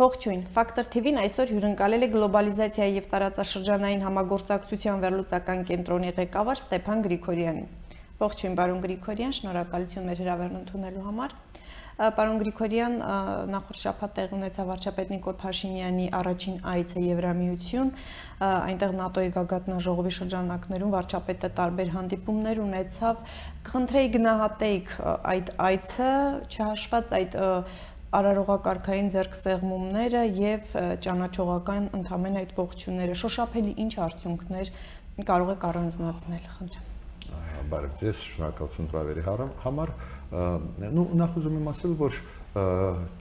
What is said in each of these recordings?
Ողջույն, Ֆակտոր TV-ն այսօր հյուրընկալել է գլոբալիզացիայի եւ տարածաշրջանային համագործակցության վերլուծական կենտրոնի ղեկավար Ստեփան Գրիգորյանին։ Ողջույն, պարոն Գրիգորյան, շնորհակալություն մեր հրավերն ընդունելու համար։ Պարոն Գրիգորյան, նախորդ շաբաթ տեղի ունեցավ վարչապետ Նիկոլ Փաշինյանի առաջին այցը Եվրամիություն, այնտեղ ՆԱՏՕ-ի գագաթնաժողովի շրջանակներում վարչապետը տարբեր հանդիպումներ ունեցավ։ Կխնդրեի գնահատեիք այդ այցը, չհաշված այդ արարողակարգային ձեռքսեղմումները եւ ճանաչողական ընդհանրեն այդ ողջույնները, շոշափելի ինչ արդյունքներ կարող եք առանձնացնել, խնդրեմ։ Բարև ձեզ, շնորհակալություն հրավերի համար։ Նախ ուզում եմ ասել, որ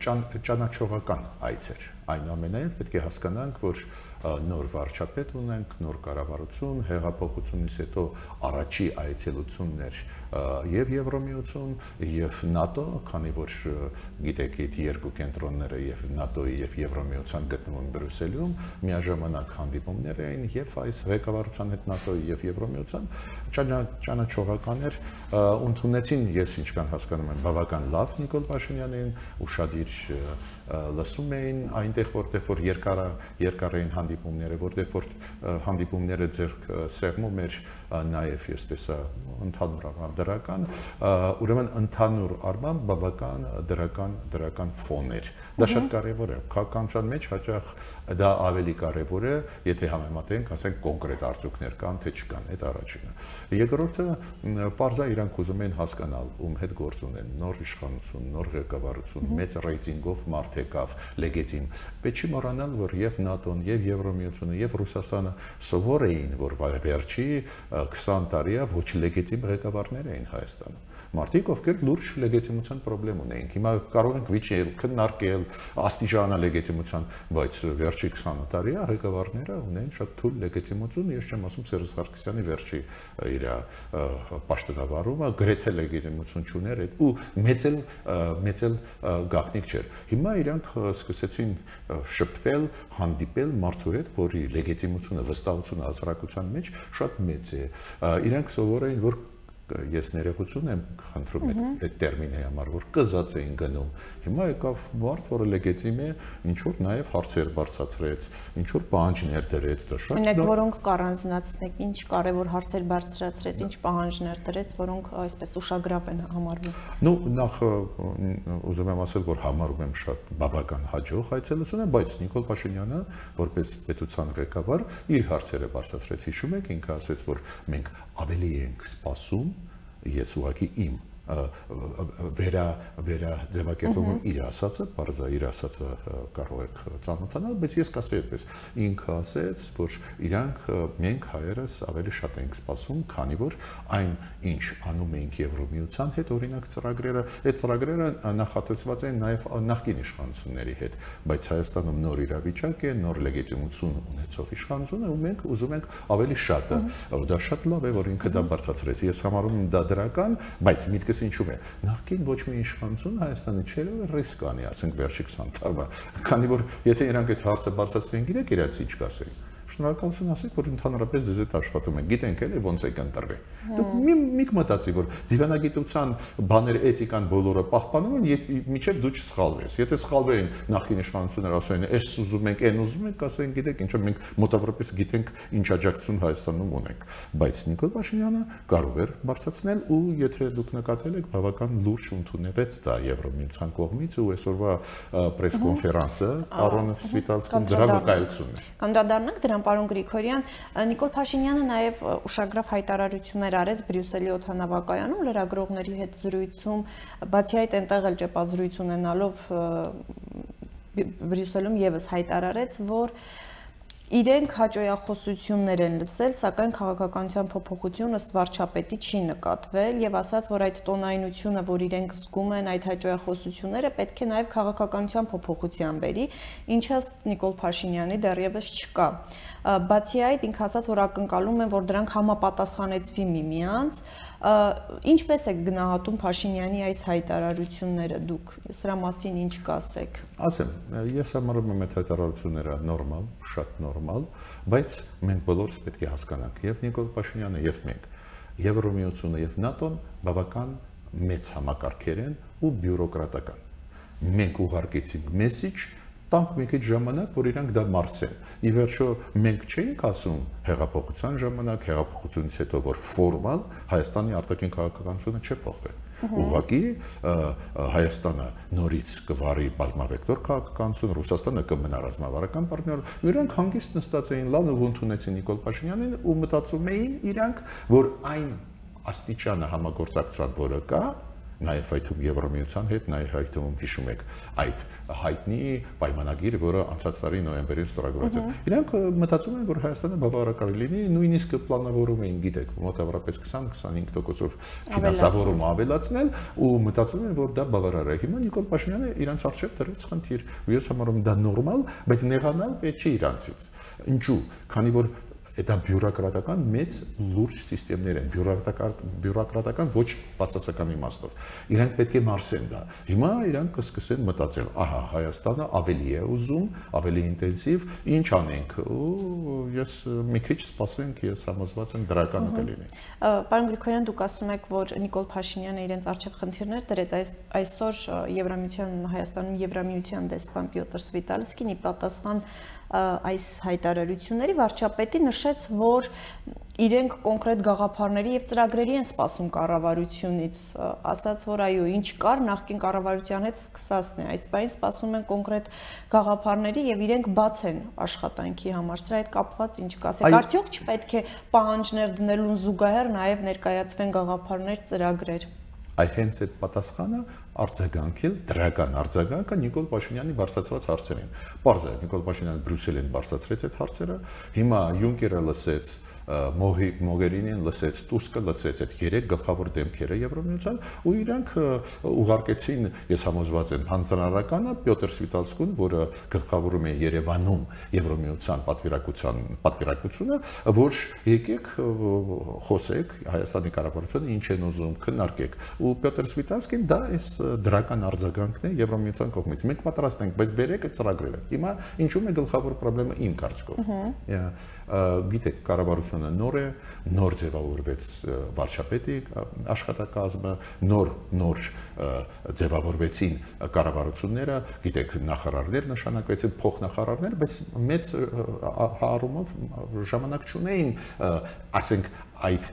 ճանաչողական այց էր, այնուամենայնիվ պետք է հասկանանք, որ նոր վարչապետ ունենք, նոր կառավարություն, հեղափոխությունից հետո առաջի այցելություններ եւ Եվրոմիություն եւ ՆԱՏՕ, քանի որ գիտեք, այդ երկու կենտրոնները եւ ՆԱՏՕ-ի եւ Եվրոմիության գտնվում Բրյուսելում, միաժամանակ հանդիպումներ էին եւ այս ղեկավարության հետ ՆԱՏՕ-ի եւ Եվրոմիության ճանաչողական էր, ընդունեցին, ես ինչքան հասկանում եմ, բավական լավ Նիկոլ Փաշինյանին, ուշադիր լսում էին այնտեղ, որտեղ որ երկար էին հանդիպումները, որտեղ որ հանդիպումները ձեռք սեղմում էր նաև ես տեսա ընդհանուր առմամբ դրական, ուրեմն ընդհանուր առմամբ բավական դրական ֆոն էր։ Դա շատ կարևոր է, քաղաքականության մեջ հաճախ դա ավելի կարևոր է, եթե համեմատենք, ասենք կոնկրետ արդյունքներ կան, թե չկան, այդ առաջինը։ Երկրորդը, պարզա իրանք ուզում են հասկանալ, ում հետ գործ ունեն, նոր իշխանություն, նոր ղեկավարություն, մեծ ռեյտինգով մարդ եկավ, լեգիտիմ։ Պետք չի մոռանալ, որ եւ ՆԱՏՕ-ն, եւ Եվրոմիությունը, եւ Ռուսաստանը սովոր էին, որ վերջի 20 տարիա ոչ լեգիտիմ ղեկավարներ էին Հայաստանում։ Մարդիկ, ովքեր լուրջ լեգիտիմության խնդրեմ ունեին։ Հիմա կարող ենք վիճել, քննարկել, աստիճանա լեգիտիմության, բայց վերջի 20 տարիա ղեկավարները ունեն շատ թույլ լեգիտիմություն, ես չեմ ասում Սերժ Սարգսյանի վերջի իր պաշտոնավարումը գրեթե լեգիտիմություն չուներ ու մեծ էլ գաղտնիք չէր։ Հիմա իրանք սկսեցին շփվել, հանդիպել մարդու հետ, որի լեգիտիմությունը, վստահությունը հասարակության մեջ շատ մեծ է։ Իրանք սովոր էին, որ ես ներողություն եմ խնդրում այդ տերմինի համար, որ կզած էին գնում։ Հիմա եկավ մարդ, որը լեգիտիմ է, ինչ որ նաև հարցեր բարձրացրեց, ինչ որ պահանջներ դրեց, դա շատ։ Մենակ որոնք կառանձնացնեք, ինչ կարևոր հարցեր բարձրացրեց, ինչ պահանջներ դրեց, որոնք այսպես ուշագրավ են համարվում։ Նախ ուզում եմ ասել, որ համարում եմ շատ բավական հաջող այցելությունը, բայց Նիկոլ Փաշինյանը, որպես պետության ղեկավար, իր հարցերը բարձրացրեց, հիշում եք, ինքը ասաց, որ մենք ավելի ենք սպասում, ես ուղղակի իմ ձևակերպում իր ասածը, պարզա իր ասածը կարող եք ծանոթանալ, բայց ես կասեի այդպես, ինքը ասեց, որ իրանք մենք հայերս ավելի շատ ենք սպասում, քանի որ այն ինչ անում ենք Եվրոմիության հետ, օրինակ ծրագրերը, այդ ծրագրերը նախատեսված են նաև նախկին իշխանությունների հետ, բայց Հայաստանում նոր իրավիճակ է, նոր լեգիտիմություն ունեցող իշխանություն է ու մենք ուզում ենք ավելի շատը, դա շատ լավ է, որ ինքը դա բարձրացրեց, ես համարում եմ դա դրական, բայց միտքս ինչու է, նախկին ոչ մի իշխանություն Հայաստանի չէր ռիսկ անի, ասենք վերջի 20 տարվա, քանի որ եթե իրանք այդ հարցը բարձրացնեն, գիտեք իրաց ինչ կասեն։ Շնորհակալություն ասեք, որ ընդհանրապես դες այդ աշխատում եք, գիտենք էլի ոնց է կընտրվի։ Դուք մի մտածի, որ դիվանագիտության բաներ էթիկան բոլորը պահպանում են, մինչև դու չսխալվես։ Եթե սխալվեին նախկին իշխանությունները ասային, «Էս ուզում ենք, այն ուզում ենք», ասեն, գիտեք, ինչը մենք մոտավորապես գիտենք ինչ աջակցություն Հայաստանում ունենք։ Բայց Նիկոլ Փաշինյանը կարող էր բարձրացնել ու եթե դուք նկատել եք, բավական լուրջ ընդունվեց դա Եվրոմիության կողմից ու այսօրվա պրես-կոնֆերանսը Արոնոֆ Սվիտալսկին դրա վկայությունն է։ Կանդրադառնանք դրան, պարոն Գրիգորյան, Նիկոլ Փաշինյանը նաև ուշագրավ հայտարարություններ արեց Բրյուսելի օդանավակայանում լրագրողների հետ զրույցում, բացի այդ այնտեղ էլ ճեպազրույց ունենալով Բրյուսելում եւս հայտարարեց, որ իրենք հաճոյախոսություններ են լսել, սակայն քաղաքականության փոփոխություն ըստ վարչապետի չի նկատվել եւ ասաց, որ այդ տոնայնությունը, որ իրենք զգում են, այդ հաճոյախոսությունները պետք է նաեւ քաղաքականության փոփոխության բերի, ինչը ըստ Նիկոլ Փաշինյանի դեռևս չկա։ Բացի այդ, ինքը ասաց, որ ակնկալում են, որ դրանք համապատասխանեցվի միմյանց, ինչպես եք գնահատում Փաշինյանի այս հայտարարությունները դուք, սրա մասին ինչ կասեք։ Ասեմ, ես համարում եմ այդ հայտարարությունները նորմալ, շատ նորմալ, բայց մենք բոլորս պետք է հասկանանք, եւ Նիկոլ Փաշինյանը, եւ մենք, Եվրոմիությունը եւ ՆԱՏՕ-ն բավական մեծ համակարգեր են ու բյուրոկրատական։ Մենք ուղարկեցինք մեսիջ տանք մի քիչ ժամանակ, որ իրանք դա մարսեն։ Ի վերջո մենք չէինք ասում հեղափոխության ժամանակ, հեղափոխությունից հետո, որ ֆորմալ Հայաստանի արտաքին քաղաքականությունը չի փոխվել։ Ուղղակի Հայաստանը նորից կվարի բազմավեկտոր քաղաքականություն, Ռուսաստանը կմնա ռազմավարական պարտներ, իրանք հանգիստ նստած էին, լավ ու ընդունեցին Նիկոլ Փաշինյանին ու մտածում էին իրանք, որ այն աստիճանը համագործակցության, որը կա, նաև այդում Եվրամիության հետ, նաև այդում հիշում եք այդ հայտնի պայմանագիրը, որը անցած տարի նոյեմբերին ստորագրված է։ Իրանք մտածում են, որ Հայաստանը բավարարական լինի, նույնիսկ պլանավորում էին, գիտեք, մոտավորապես 20-25%-ով ֆինանսավորում ավելացնել ու մտածում են, որ դա բավարար է։ Հիմա Նիկոլ Փաշինյանը իրանց առջև դրեց խնդիր, ու ես համարում եմ դա նորմալ, բայց նեղանալ պետք չի իրանցից։ Ինչու՞, քանի որ դա բյուրոկրատական մեծ լուրջ համակարգեր են, բյուրոկրատական ոչ բացասական իմաստով։ Իրանք պետք է մարսեն դա։ Հիմա իրանք կսկսեն մտածել, ահա Հայաստանը ավելի է ուզում, ավելի ինտենսիվ, ինչ անենք։ Ու ես մի քիչ սպասենք, ես համոզված եմ դրականը կլինի։ Պարոն Գրիգորյան, դուք ասում եք, որ Նիկոլ Փաշինյանը իրենց առջև խնդիրներ դրեց, այսօր Եվրամիության Հայաստանում Եվրամիության դեսպան Պյոտր Սվիտալսկին ի պատասխան այս հայտարարությունների վարչապետի նշեց, որ իրենք կոնկրետ գաղափարների եւ ծրագրերի են սպասում կառավարությունից, ասաց, որ այո, ինչ կար նախկին կառավարության հետ սկսածն է, այս բանին սպասում են կոնկրետ գաղափարների եւ իրենք բաց են աշխատանքի համար։ Սրա հետ կապված ինչ կասեք, արդյոք չպետք է պահանջներ դնելուն զուգահեռ նաեւ ներկայացվեն գաղափարներ, ծրագրեր։ Հենց այդ պատասխանը արձագանքել դրական արձագանքը Նիկոլ Փաշինյանի բարձրացրած հարցերին։ Պարզ է, Նիկոլ Փաշինյանը Բրյուսելին բարձրացրեց այդ հարցերը, հիմա Յունկերը լսեց, Մոգերինին լսեց, Տուսկը լսեց այդ երեք գլխավոր դեմքերը Եվրամիության ու իրանք ուղարկեցին, ես համոզված եմ, հանձնարարականը Պյոտր Սվիտալսկուն, որը գլխավորում է Երևանում Եվրամիության պատվիրակությունը, որ եկեք խոսեք Հայաստանի կառավարությունը ինչ են ուզում, քննարկեք։ Ու Պյոտր Սվիտալսկին դա այս դրական արձագանքն է Եվրամիության կողմից։ Մենք պատրաստ ենք, բայց բերեք այդ ծրագրերը։ Հիմա ինչու՞մ է գլխավոր խնդրը իմ կարծիքով։ Գիտեք, կառավարությունը նոր է, նոր ձևավորվեց վարչապետի աշխատակազմը, նոր ձևավորվեցին կառավարությունները, գիտեք, նախարարներ նշանակվեցին, փոխնախարարներ, բայց մեծ հարումով ժամանակ չունեին, ասենք, այդ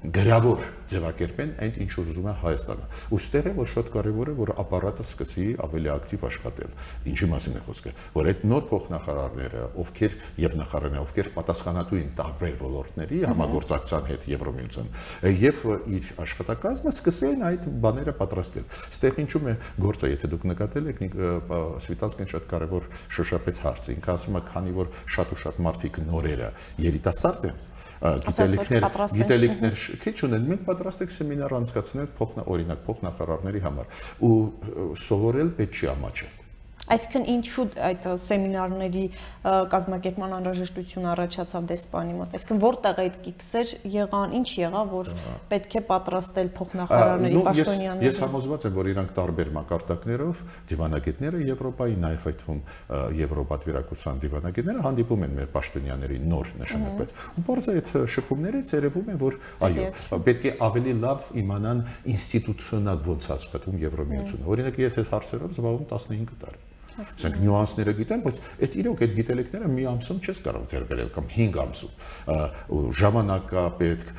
գրավոր ձևակերպեն այն ինչ ուզում է Հայաստանը։ Ոստեղ է, որ շատ կարևոր է, որ ապարատը սկսի ավելի ակտիվ աշխատել։ Ինչի մասին է խոսքը, որ այդ նոր փոխնախարարները, ովքեր եւ նախարարները, ովքեր պատասխանատու են տարբեր ոլորտների համագործակցության հետ Եվրամիության, եւ իր աշխատակազմը սկսեն այդ բաները պատրաստել։ Այստեղ ինչու՞ է գործը, եթե դուք նկատել եք, Սվիտալսկին շատ կարևոր շոշափեց հարցը։ Ինքը ասում է, քանի որ շատ ու շատ մարդիկ նորերը երիտասարդ են, գիտելիքներ քիչ ունեն, մենք պատրաստ ենք սեմինար անցկացնել օրինակ փոխնախարարների համար ու սովորել պետք չի ամաչել։ Այսինքն ինչու այդ սեմինարների կազմակերպման անհրաժեշտություն առաջացավ դեսպանի մոտ, այսինքն որտեղ այդ կիքսեր եղան, ինչ եղավ, որ պետք է պատրաստել փոխնախարարների պաշտոնյաների։ Ես համոզված եմ, որ իրանք տարբեր մակարդակներով դիվանագետները Եվրոպայի, նաև այդվում Եվրոպատվիրակության դիվանագետները հանդիպում են մեր պաշտոնյաների նոր նշանակված։ Ու բարձր այդ շփումներից երևում է, որ այո, պետք է ավելի լավ իմանան ինստիտուցիոնալ ոնց աշխատում Եվրամիությունը։ Օրինակ, ես այդ հարցերով զբաղվում 15 տարի։ Ասենք նյուանսները գիտեմ, բայց այդ իրոք այդ գիտելիքները մի ամսում չես կարող ձեռք բերել կամ 5 ամսում։ Ժամանակ կա պետք,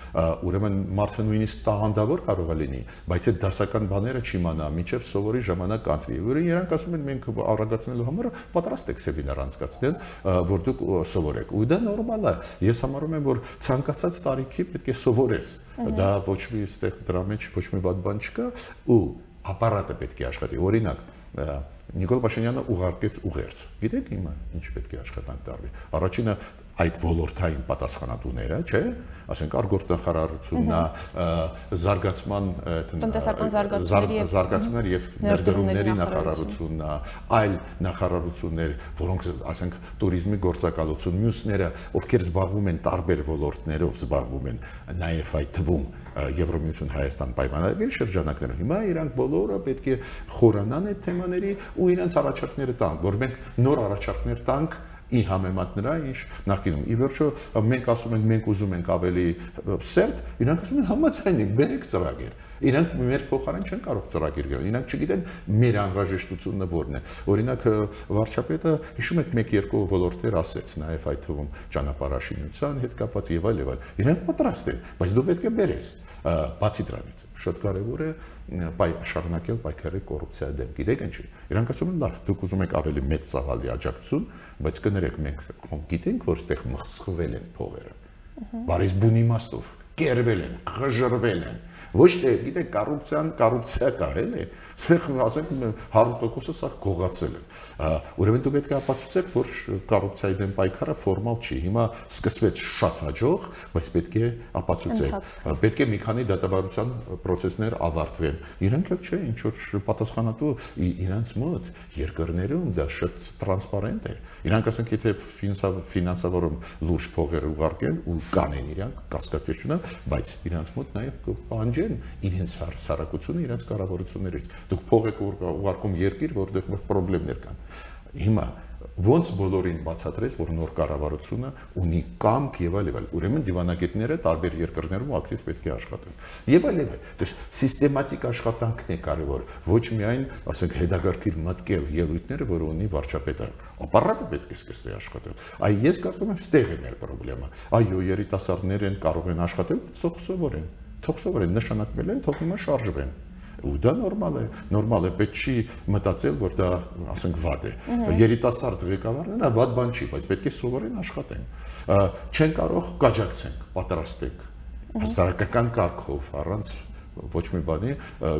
ուրեմն մարդը նույնիսկ տաղանդավոր կարող է լինի, բայց այդ դասական բաները չիմանա, մինչև սովորի ժամանակ անցնի։ Ուրեմն իրանք ասում են մենք արագացնելու համար պատրաստ ենք սեմինար անցկացնել, որ դուք սովորեք։ Ու դա նորմալ է։ Ես համարում եմ, որ ցանկացած տարիքի պետք է սովորես։ Դա ոչ մի ստեղ դրա մեջ ոչ մի վատ բան չկա ու ապարատը պետք է աշխատի։ Օրինակ Նիկոլ Փաշինյանը ուղարկեց ուղերձ։ Գիտեք հիմա ինչ պետք է աշխատանք տարվի։ Առաջինը այդ ոլորտային պատասխանատուները, չէ՞, ասենք արտգործնախարարությունն է, զարգացման զարգացումներ եւ ներդրումների նախարարությունն է, այլ նախարարություններ, որոնք ասենք туриզմի գործակալություն, մյուսները, ովքեր զբաղվում են տարբեր ոլորտներով, զբաղվում են նաեւ այդ թվում Եվրամիություն Հայաստան պայմանագրի շրջանակներում։ Հիմա իրանք բոլորը պետք է խորանան այդ թեմաների ու իրենց առաջարկները տան, որ մենք նոր առաջարկներ տանք ի համեմատ նրա, ինչ նախկինում։ Ի վերջո մենք ասում ենք, մենք ուզում ենք ավելի սերտ, իրանք ասում են համաձայն ենք, բերեք ծրագիր։ Իրանք մեր փոխարեն չեն կարող ծրագիր գնել։ Իրանք չգիտեն մեր անհրաժեշտությունը որն է։ Օրինակ վարչապետը հիշում եք 1-2 ոլորտներ ասեց, նաև այդ թվում ճանապարհաշինության հետ կապված եւ այլ եւ այլ։ Իրանք պատրաստ են, բայց դու պետք է բերես։ Բացի դրանից շատ կարևոր է շարունակել պայքարել կոռուպցիայի դեմ։ Գիտեք ինչի։ Իրանք ասում են, լավ, դուք ուզում եք ավելի մեծ ծավալի աջակցություն, բայց կներեք մենք գիտենք, որ այստեղ մխսխվել են փողերը։ Բարիս բուն իմաստով կերվել են, խժռվել են։ Ոչ թե, գիտեք, կոռուպցիա կա, էլի, սեղ ասենք 100%-ը սա գողացել են։ Ուրեմն դու պետք է ապացուցեք, որ կոռուպցիայի դեմ պայքարը ֆորմալ չի։ Հիմա սկսվեց շատ հաջող, բայց պետք է ապացուցեք։ Պետք է մի քանի դատավարության process-ներ ավարտվեն։ Իրանք էլ չէ, ինչ որ պատասխանատու իրանց մոտ երկրներում դա շատ տրանսպարենտ է։ Իրանք ասենք, եթե ֆինանսավորում լուրջ փողեր ուղարկեն ու կանեն իրանք, կասկած չունեն, բայց իրանց մոտ նաև կպահանջեն իրենց հասարակությունը, իրենց կառավարություններից։ Դուք փող եք ուղարկում երկիր, որտեղ խնդիրներ կան։ Հիմա ոնց բոլորին բացատրեց, որ նոր կառավարությունը ունի կամք եւ այլ եւ այլ։ Ուրեմն դիվանագետները տարբեր երկրներում ակտիվ պետք է աշխատեն։ Եվ այլ եւ այլ։ Դες սիստեմատիկ աշխատանքն է կարևոր, ոչ միայն, ասենք, հետագարքիր մտկել ելույթները, որ ունի վարչապետը։ Ապարատը պետք է սկսի աշխատել։ Այ ես կարծում եմ, ստեղ է մեր խնդրեմը։ Այո, երիտասարդներ են կարող են աշխատել, թող սովորեն։ Թող սովորեն, նշանակվել են, թող հիմա շարժվեն։ Ու դա նորմալ է, պետք չի մտածել, որ դա, ասենք, վատ է։ Երիտասարդ ղեկավարն է, վատ բան չի, բայց պետք է սովորեն աշխատեն։ Չեն կարող կաջակցենք, պատրաստենք, հասարակական կարգով, առանց ոչ մի բանի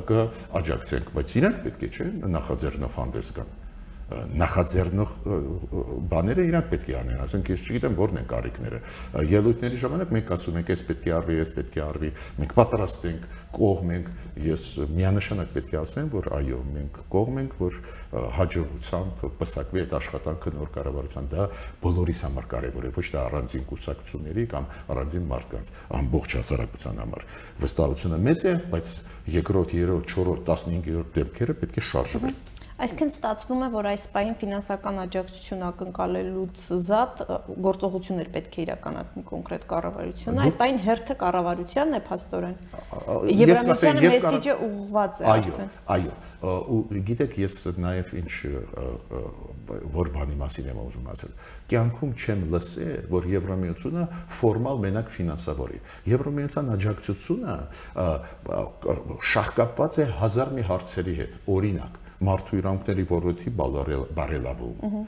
կաջակցենք, բայց իրանք պետք է չէ նախաձեռնով հանդես գան։ Նախաձեռնող բաները իրանք պետք է անեն, ասենք ես չգիտեմ որն են կարիքները։ Ելույթների ժամանակ մենք ասում ենք, այս պետք է արվի, այս պետք է արվի, մենք պատրաստ ենք, կողմ ենք, ես միանշանակ պետք է ասեմ, որ այո, մենք կողմ ենք, որ հաջողությամբ պսակվի այդ աշխատանքը նոր կառավարության, դա բոլորիս համար կարևոր է, ոչ թե առանձին կուսակցությունների կամ առանձին մարդկանց, ամբողջ հասարակության համար։ Վստահությունը մեծ է, բայց երկրորդ, երրորդ, չորրորդ, 15-րդ դեպքերը պետք է շարժվեն։ Այսինքն ստացվում է, որ այս պահին ֆինանսական աջակցություն ակնկալելուց զատ գործողություններ պետք է իրականացնի կոնկրետ կառավարությունը։ Այս պահին հերթը կառավարությանն է փաստորեն։ Եվրամիссիոны մեսիջը ուղղված է արդեն։ Այո, ու գիտեք, ես նաև ինչ որ բանի մասին եմ ուզում ասել։ Կյանքում չեմ լսել, որ Եվրամիությունը ֆորմալ մենակ ֆինանսավորի։ Եվրամիության աջակցությունը շահկապված է հազար մի հարցերի հետ, օրինակ մարդու իրավունքների ոլորտի բարելավում,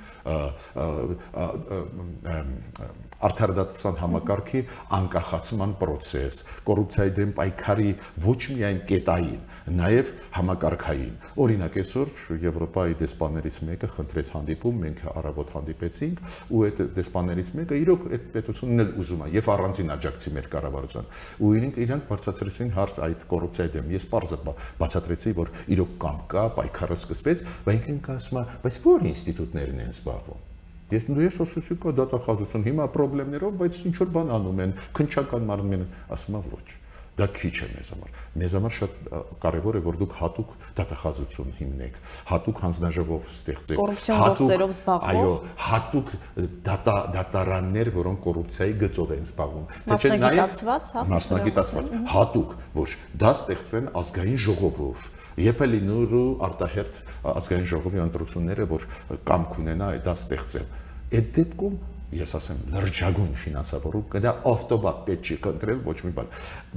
արդարադատության համակարգի անկախացման process, կոռուպցիայի դեմ պայքարի ոչ միայն կետային, նաև համակարգային։ Օրինակ այսօր Եվրոպայի դեսպաններից մեկը խնդրեց հանդիպում, մենք առավոտ հանդիպեցինք, ու այդ դեսպաններից մեկը իրոք այդ պետությունն էլ ուզում է եւ առանձին աջակցի մեր կառավարության։ Ու իրանք բարձրացրեցին հարց այդ կոռուպցիայի դեմ։ Ես պարզը բացատրեցի, որ իրոք կամ կա պայքարը սկսվեց, բայց ինքն ասում է, բայց ո՞ր ինստիտուտներն են զբաղվում։ Ես ասացի կա դատախազություն, հիմա խնդիրներով, բայց ինչ որ բան անում են, քննչական մարմին, ասում եմ ոչ։ Դա քիչ է մեզ համար։ Մեզ համար շատ կարևոր է, որ դուք հատուկ դատախազություն հիմնեք, հատուկ հանձնաժողով ստեղծեք, կոռուպցիոն զբաղվող, այո, հատուկ դատարաններ, որոնք կոռուպցիայի գծով են զբաղվում։ Մասնագիտացված, հատուկ, ոչ, դա ստեղծվեն ազգային ժողովով։ Եփ է լինելու արտահերթ ազգային ժողովի ընտրությունները, որ կամք ունենա դա ստեղծել։ Այդ դեպքում ես ասեմ լրջագույն ֆինանսավորում կդա ավտոմատ պետք չի կընտրել ոչ մի բան,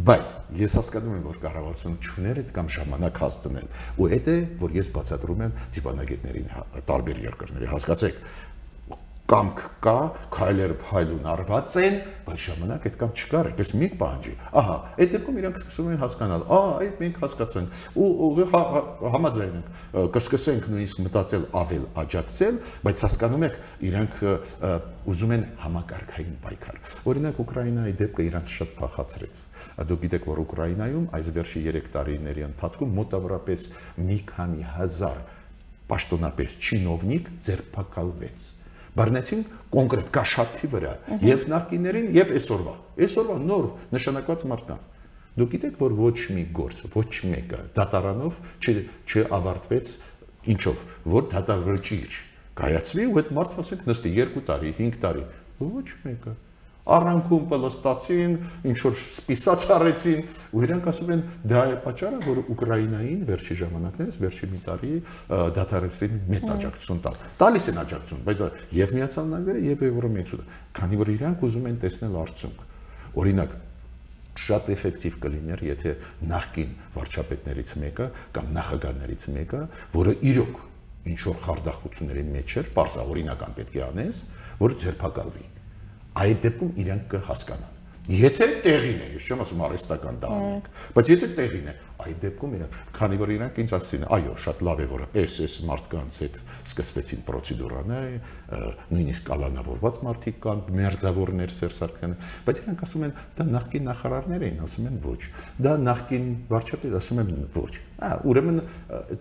բայց ես հասկանում եմ, որ կառավարությունը չուներ այդ կամ ժամանակ հասցնել, ու այդ է, որ ես բացատրում եմ դիվանագետներին տարբեր երկրների, հասկացեք, կամք կա, քայլեր փայլուն արված են, բայց ժամանակ այդ կամ չկար, այդպես մի պահանջի։ Ահա, այդ դեպքում իրանք սկսում են հասկանալ, այդ մենք հասկացանք, ու համաձայն ենք, կսկսենք նույնիսկ մտածել ավել աջակցել, բայց հասկանում եք, իրանք ուզում են համակարգային պայքար։ Օրինակ Ուկրաինայի դեպքը իրանք շատ փախացրեց։ Դուք գիտեք, որ Ուկրաինայում այս վերջի 3 տարիների ընթացքում մոտավորապես մի քանի հազար պաշտոնապես չինովնիկ ձերբակալվեց։ Բռնեցին կոնկրետ կաշառքի վրա եւ նախկիներին եւ այսօրվա նոր նշանակված մարդկանց։ Դուք գիտեք, որ ոչ մի գործ, ոչ մեկը դատարանով չավարտվեց ինչով, որ դատավճիռ կայացվի ու այդ մարդը ասենք նստի 2 տարի, 5 տարի, ոչ մեկը առանքում պլստացին, ինչ որ սպիսած արեցին, ու իրանք ասում են դա է պատճառը, որ Ուկրաինային վերջի ժամանակներից վերջի մի տարի դադարեցրին մեծ աջակցություն տալ։ Տալիս են աջակցություն, բայց եւ Միացյալ Նահանգները եւ Եվրոմիությունը, քանի որ իրանք ուզում են տեսնել արդյունք։ Օրինակ շատ էֆեկտիվ կլիներ, եթե նախկին վարչապետներից մեկը կամ նախագահներից մեկը, որը իրոք ինչ որ խարդախությունների մեջ էր, պարզավորինական պետք է անես, որ ձերբակալվի։ Այդ դեպքում իրանք կհասկանան։ Եթե տեղին է, ես չեմ ասում արհեստական դա անենք, բայց եթե տեղին է, այդ դեպքում իրանք, քանի որ իրանք ինձ ասեցին, այո, շատ լավ է, որ այս մարդկանց հետ սկսվեցին պրոցեդուրաներ, նույնիսկ կալանավորված մարդիկ կան, մերձավորներ Սերժ Սարգսյանը, բայց իրանք ասում են, դա նախկին նախարարներ էին, ասում են ոչ, դա նախկին վարչապետ, ասում են ոչ, ուրեմն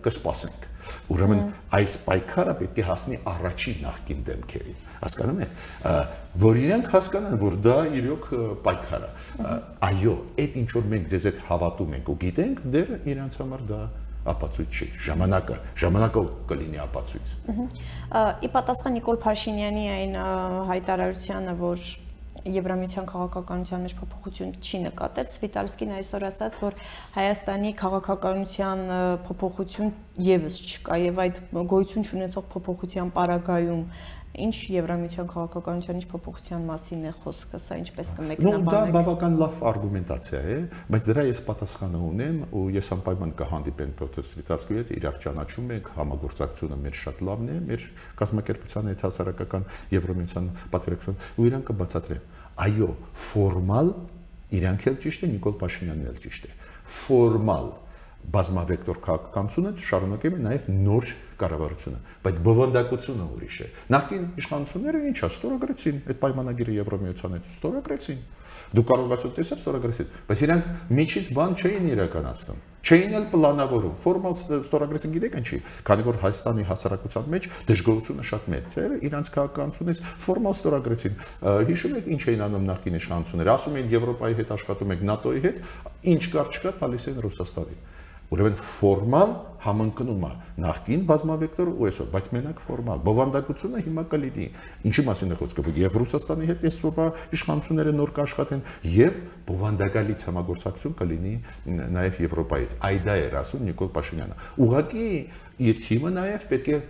կսպասենք, ուրեմն այս պայքարը պետք է հասնի առաջին նախկին դեմքերին, հասկանում եք, որ իրանք հասկանան, որ դա իրոք պայքար է, այո, այդ ինչ որ մենք ձեզ հետ հավատում ենք ու գիտենք, դեռ իրանց համար դա ապացույց չի, ժամանակը կլինի ապացույց։ Ի պատասխան Նիկոլ Փաշինյանի այն հայտարարությանը, որ Եվրամիության քաղաքականության մեջ փոփոխություն չի նկատել, Սվիտալսկին այսօր ասաց, որ Հայաստանի քաղաքականության փոփոխություն եւս չկա եւ այդ գոյություն չունեցող փոփոխության պարագայում ինչ Եվրամիության քաղաքականության ինչ փոփոխության մասին է խոսքը, սա ինչպես կմեկնաբանեք։ Դա բավական լավ արգումենտացիա է, բայց դրա ես պատասխանը ունեմ ու ես անպայման կհանդիպեմ Պյոտր Սվիտալսկիի հետ, իրար ճանաչում ենք, համագործակցությունը մեր շատ լավն է, մեր կազմակերպության հետ հասարակական Եվրամիության պատվիրակություն ու իրանք կբացատրեն։ Այո, ֆորմալ իրանք էլ ճիշտ է, Նիկոլ Փաշինյանն էլ ճիշտ է։ Ֆորմալ բազմավեկտոր քաղաքականությունը շարունակում է նաև նոր կառավարությունը, բայց բովանդակությունը ուրիշ է։ Նախկին իշխանությունները ինչա ստորագրեցին այդ պայմանագիրը Եվրոմիության հետ, ստորագրեցին։ Դուք կարողացաք տեսնել ստորագրեցին, բայց իրանք միջից բան չէին իրականացնում, չէին էլ պլանավորում։ Ֆորմալ ստորագրեցին, գիտեք ինչի, քանի որ Հայաստանի հասարակության մեջ դժգոհությունը շատ մեծ էր, իրանք քաղաքականությունից ֆորմալ ստորագրեցին։ Հիշում եք ինչ էին անում նախկին իշխանությունները, ասում էին Եվրոպայի հետ աշխատում եք, ՆԱՏՕ-ի հետ, ինչ կար չկա, տալիս են Ռուսաստանին։ Ուրեմն ֆորմալ համընկնում է նախկին բազմավեկտոր ու այսօր, բայց մենակ ֆորմալ բովանդակությունը հիմա կլինի։ Ինչի մասին է խոսքը, որ եւ Ռուսաստանի հետ այսօրվա իշխանությունները նոր կաշխատեն եւ բովանդակալից համագործակցություն կլինի նաեւ Եվրոպայից։ Այդ դա էր ասում Նիկոլ Փաշինյանը։ Ուղղակի իր թիմը նաեւ պետք է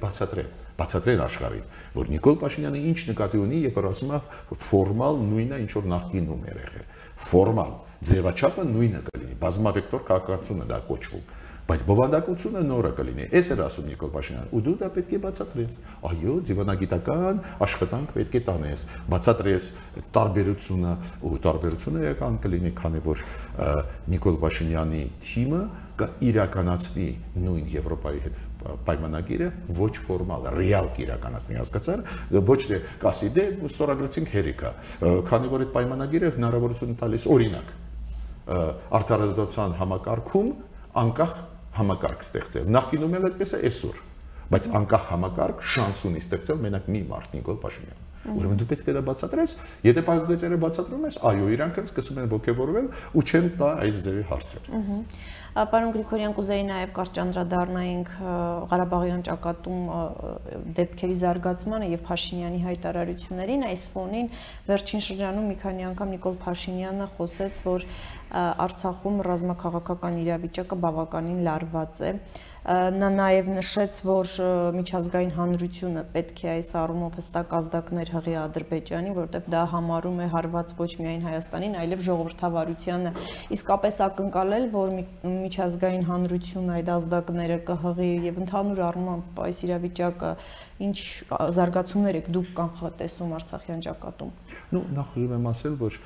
բացատրեն աշխարհին, որ Նիկոլ Փաշինյանը ինչ նկատի ունի, երբ ասում է ֆորմալ նույնը ինչ որ նախկինում էր եղել։ Ֆորմալ ձևաչափը նույնը կլինի, բազմավեկտոր քաղաքականությունը դա կոչվում, բայց բովանդակությունը նորը կլինի։ Էս էր ասում Նիկոլ Փաշինյանը, ու դու դա պետք է բացատրես։ Այո, դիվանագիտական աշխատանք պետք է տանես, բացատրես տարբերությունը, ու տարբերությունը էական կլինի, քանի որ Նիկոլ Փաշինյանի թիմը կիրականացնի նույն Եվրոպայի հետ պայմանագիրը ոչ ֆորմալ, ռեալ կիրականացնի, հասկացար, ոչ թե կասի դե ստորագրեցինք հերիքա, քանի որ այդ պայմանագիրը հնարավորություն տալիս օրինակ արդարադատության համակարգում անկախ համակարգ ստեղծել։ Նախկինում էլ այդպես է այսօր, բայց անկախ համակարգ շանս ունի ստեղծել մենակ մի մարդ Նիկոլ Փաշինյանը։ Ուրեմն դու պետք է դա բացատրես, եթե պայմանագիրը բացատրում ես, այո, իրանք սկսում են ոգևորվել ու չեն տա այս ձևի հարցեր։ Պարոն Գրիգորյան, կուզեի նաև կարճ անդրադառնայինք Ղարաբաղյան ճակատում դեպքերի զարգացմանը եւ Փաշինյանի հայտարարություններին։ Այս ֆոնին վերջին շրջանում մի քանի անգամ Նիկոլ Փաշինյանը խոսեց, որ Արցախում ռազմաքաղաքական իրավիճակը բավականին լարված է։ Նա նաև նշեց, որ միջազգային հանրությունը պետք է այս առումով հստակ ազդակներ հղի Ադրբեջանին, որովհետև դա համարում է հարված ոչ միայն Հայաստանին, այլև ժողովրդավարությանը։ Իսկապես ակնկալել, որ միջազգային հանրությունը այդ ազդակները կհղի եւ ընդհանուր առմամբ այս իրավիճակը ինչ զարգացումներ եք դուք կանխատեսում Արցախյան ճակատում։ Նախ ուզում եմ ասել, որ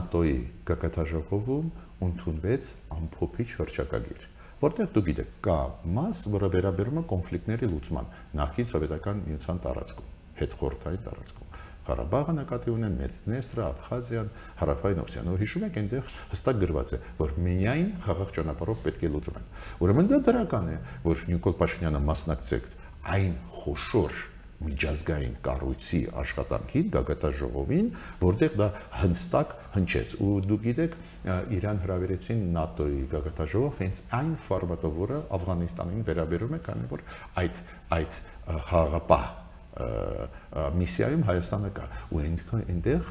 ՆԱՏՕ-ի գագաթաժողովում ընդունվեց ամփոփիչ հռչակագիր, որտեղ դուք գիտեք, կա մաս, որը վերաբերում է կոնֆլիկտների լուծման նախկին սովետական միության տարածքում, հետխորհրդային տարածքում։ Ղարաբաղը նկատի ունեն Մեծդնեստրը, Աբխազիան, Հարավային Օսիանը, հիշում եք, այնտեղ հստակ գրված է, որ միայն խաղաղ ճանապարհով պետք է լուծվեն։ Ուրեմն դա դրական է, որ Նիկոլ Փաշինյանը մասնակցեց այն խոշոր միջազգային կառույցի աշխատանքին, գագաթաժողովին, որտեղ դա հստակ հնչեց։ Ու դուք գիտեք, Իրան հրավիրեցին ՆԱՏՕ-ի գագաթաժողով հենց այն ֆորմատով, որը Աֆղանստանին վերաբերում է, քանի որ այդ խաղաղապահ միսիայում Հայաստանը կա ու այնտեղ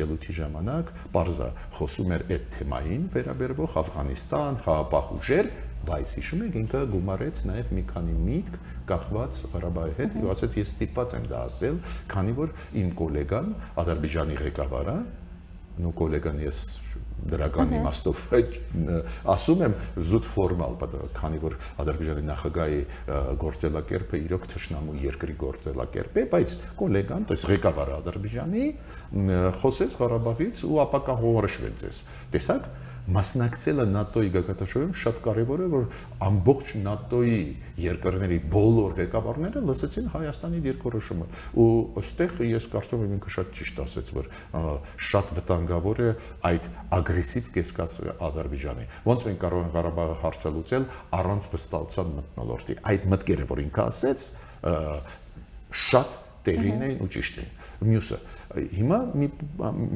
ելույթի ժամանակ բարձա խոսում էր այդ թեմային վերաբերվող Աֆղանիստան, խաղաղ ուժեր, բայց հիշում եք ինքը գումարեց նաև մի քանի միտք կախված Ղարաբաղի հետ ու ասաց ես ստիպված եմ դա ասել, քանի որ իմ գոլեգան Ադրբեջանի ղեկավարը, նու գոլեգան ես դրական իմաստով ասում եմ զուտ ֆորմալ, քանի որ Ադրբեջանի նախագահի գործելակերպը իրոք թշնամու երկրի գործելակերպ է, բայց գոլեգան, то есть ղեկավարը Ադրբեջանի խոսեց Ղարաբաղից ու ապակահորոշվեց ես։ Տեսակ մասնակցելը ՆԱՏՕ-ի գագաթնաժողովում շատ կարևոր է, որ ամբողջ ՆԱՏՕ-ի երկրների բոլոր ղեկավարները լսեցին Հայաստանի դիրքորոշումը։ Ու այստեղ ես կարծում եմ ինքը շատ ճիշտ ասեց, որ շատ վտանգավոր է այդ ագրեսիվ կեսկածը Ադրբեջանի։ Ոնց մենք կարող ենք Ղարաբաղը հարցը լուծել առանց վստահության մթնոլորտի։ Այդ մտքերը, որ ինքը ասեց, շատ տեղին էին ու ճիշտ էին։ Մյուսը հիմա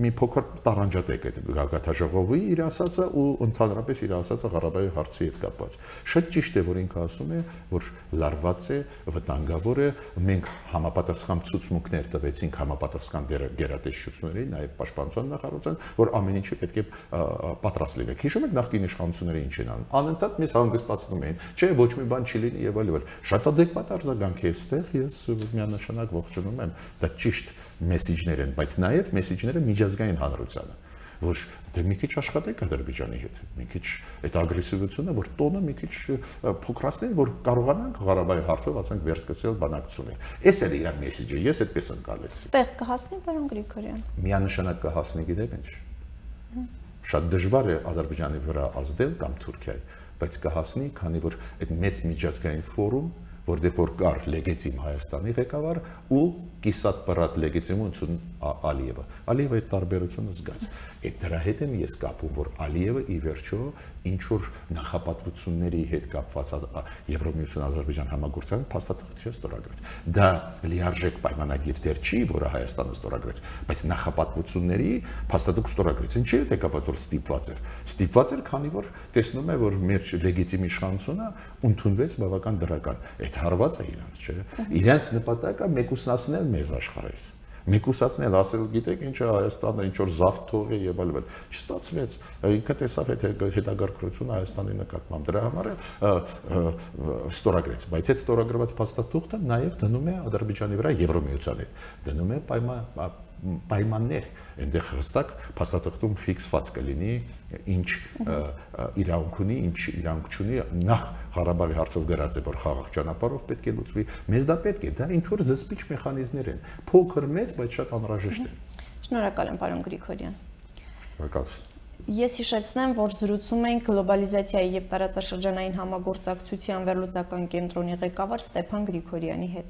մի փոքր տարանջատեք այդ գագաթնաժողովի իր ասածը ու ընդհանրապես իր ասածը Ղարաբաղի հարցի հետ կապված։ Շատ ճիշտ է, որ ինքը ասում է, որ լարված է, վտանգավոր է, մենք համապատասխան ցուցմունքներ տվեցինք համապատասխան գերատեսչությունների, նաև պաշտպանության նախարարության, որ ամեն ինչը պետք է պատրաստ լինեք։ Հիշում եք նախկին իշխանությունները ինչ են անում։ Անընդհատ մեզ հանգստացնում էին, չէ, ոչ մի բան չի լինի եւ այլն։ Շատ ադեկվատ արձագանք է այստեղ, ես միանշանակ ողջունում եմ, դա ճիշտ մեսիջներ են, բայց նաև մեսիջները միջազգային հանրությանը, որ դե մի քիչ աշխատեք Ադրբեջանի հետ, մի քիչ այդ ագրեսիվությունը, որ տոնը մի քիչ փոքրացնեն, որ կարողանանք Ղարաբաղի հարցով ասենք վերսկսել բանակցություններ։ Էս էլ իր մեսիջը, ես այդպես ընկալեցի։ Տեղ կհասնի, պարոն Գրիգորյան։ Միանշանակ կհասնի, գիտեք ինչ։ Շատ դժվար է Ադրբեջանի վրա ազդել կամ Թուրքիայի, բայց կհասնի, քանի որ այդ մեծ միջազգային ֆորում, որտեղ որ կար լեգիտիմ Հայաստանի ղեկավար ու կիսատ պրատ լեգիտիմություն Ալիևը։ Ալիևը այդ տարբերությունը զգաց։ Այդ դրա հետ եմ ես կապում, որ Ալիևը ի վերջո ինչ որ նախապատվությունների հետ կապված Եվրոմիություն Ադրբեջան համագործակցության փաստաթղթ ստորագրեց։ Դա լիարժեք պայմանագիր դեռ չի, որը Հայաստանը ստորագրեց, բայց նախապատվությունների փաստաթուղթ ստորագրեց։ Ինչի՞ է կապված, որ ստիպված էր։ Ստիպված էր, քանի որ տեսնում է, որ մեր լեգիտիմ իշխանությունը ընդունվեց բավական դրական։ Այդ հարված է իրանց, չէ՞։ Իրանց նպատակը մեկուսացնել մեզ աշխարհից։ Մեկուսացնել, ասել, գիտեք ինչ է Հայաստանը, ինչ որ զավթ թողի եւ այլն։ Չստացվեց։ Ինքը տեսավ այդ հետագարկությունը Հայաստանի նկատմամբ։ Դրա համար ստորագրեց, բայց այդ ստորագրված փաստաթուղթը նաեւ դնում է Ադրբեջանի վրա Եվրոմիության հետ։ Դնում է պայմաններ, այնտեղ հստակ փաստաթղթում ֆիքսված կլինի ինչ իրավունք ունի, ինչ իրավունք չունի, նախ Ղարաբաղի հարցով գրած է, որ խաղաղ ճանապարհով պետք է լուծվի, մեզ դա պետք է, դա ինչ որ զսպիչ մեխանիզմներ են, փոքր մեծ, բայց շատ անհրաժեշտ են։ Շնորհակալ եմ, պարոն Գրիգորյան։ Շնորհակալ։ Ես հիշեցնեմ, որ զրուցում ենք գլոբալիզացիայի եւ տարածաշրջանային համագործակցության վերլուծական կենտրոնի ղեկավար Ստեփան Գրիգորյանի հետ։